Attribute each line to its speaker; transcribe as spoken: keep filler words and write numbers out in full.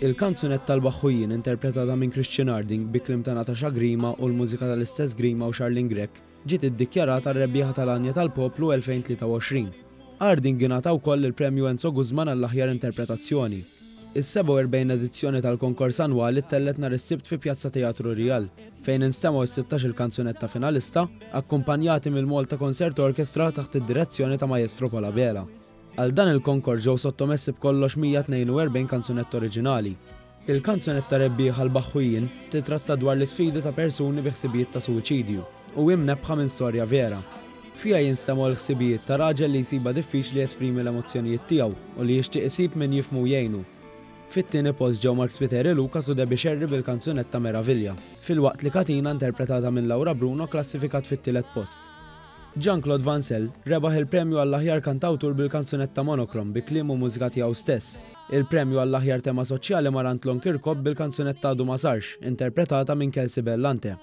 Speaker 1: Il-kanzunetta L-Baħħujien, interpretata minn Christian Harding bi kliem ta' Natasha Grima u l-mużika tal-istess Grima u Charlene Grech, ġiet iddikjarata r-rebbieħa tal-Għanja tal-Poplu elfejn tlieta u għoxrin. Harding ingħata wkoll il-Premju Enzo Guzman għall-aħjar interpretazzjoni. Is-sebgħa u erbgħin edizzjoni tal-konkors annwali ttellgħet nhar is-Sibt fi Pjazza Teatru Real, fejn instemgħu s-sittax il kanzunetta finalista, akkumpanjati mill-Malta Concert Orchestra taħt id-direzzjoni ta' Maestro Paul Abela. Għal dan il-konkors ġew sottomessi b'kollox mija tnejn u erbgħin kanzunetta oriġinali. Il-kanzunetta rebbieħa L-Baħħujien titratta dwar l-isfidi ta' persuni bi ħsibijiet ta' suwiċidju u hi mnebbħa minn storja vera. Fiha jinstemgħu l-ħsibijiet ta' raġel li jsibha diffiċli jesprimi l-emozzjonijiet tiegħu u li jixtieq isib min jifhmu jgħinu. Fit-tieni post ġew Mark Spiteri Lucas u Debbie Sherry bil-kanzunetta Meravilja, filwaqt li Katina, interpretata minn Laura Bruno, klassifikat fit-tielet post. Jean-Claude Vancel rebaħ il-premju għall-aħjar kantawtur bil-kanzunetta Monochrome bi kliem u mużika tiegħu stess. Il-premju għall-aħjar tema soċjali mar għand Lon Kirkop bil-kanzunetta Għadu Ma Sarx, interpretata minn Kelsey Bellante.